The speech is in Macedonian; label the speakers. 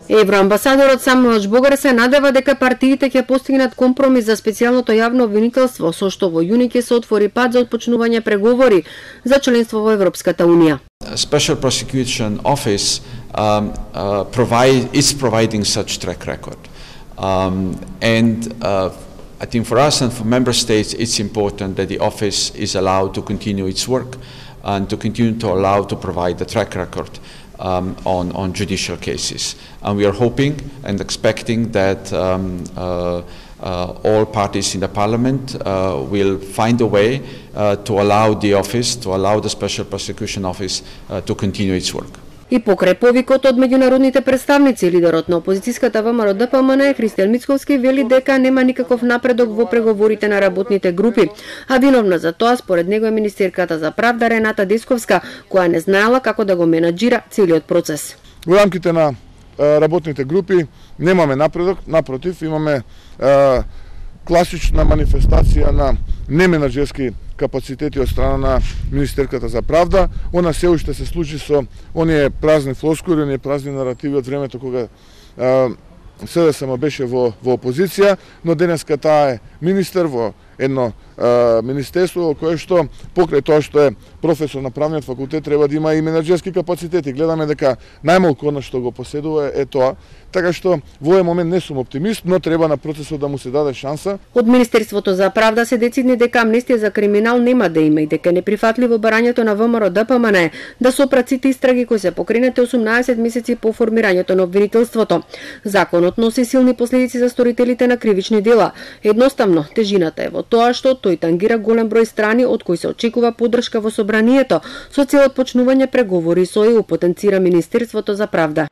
Speaker 1: Евроамбасадорот Самуел Богар се надева дека партиите ќе постигнат компромис за специјалното јавно обвинителство, со што во јуни ќе се отвори пат за отпочнување преговори за членство во Европската унија.
Speaker 2: Special Prosecution Office is providing such track record, I think for us and for member states it's important that the office is allowed to continue its work and to continue to allow to provide the track record on judicial cases. And we are hoping and expecting that all parties in the Parliament will find a way to allow the office, to allow the Special Prosecution Office to continue its work.
Speaker 1: И покрај повикот од меѓународните представници, лидерот на опозицијската ВМРО ДПМН Христијан Мицковски вели дека нема никаков напредок во преговорите на работните групи, а виновна за тоа според него е министерката за правда Рената Десковска, која не знаела како да го менаџира целиот процес.
Speaker 3: Во рамките на работните групи немаме напредок, напротив, имаме класична манифестација на неменаџерски капацитети од страна на министерката за правда. Она се уште се случи со оние празни флоскули, оние празни наративи од времето кога СДСМ беше во опозиција, но денеска таа е министер во едно министерство кое што покрај тоа што е професор на правниот факултет треба да има и менаџерски капацитети. Гледаме дека најмалку она што го поседува е тоа, така што во овој момент не сум оптимист, но треба на процесот да му се даде шанса.
Speaker 1: Од Министерството за правда се децидни дека амнестија за криминал нема да има и дека е неприфатливо барањето на ВМРО ДПМН да сопрат сите истраги кои се покренати 18 месеци по формирањето на обвинителството. Законот носи силни последици за сторителите на кривични дела. Едноставно, тежината е во тоа што тој тангира голем број страни од кои се очекува поддршка во собранието со цел отпочнување преговори со ЕУ, потенцира Министерството за правда.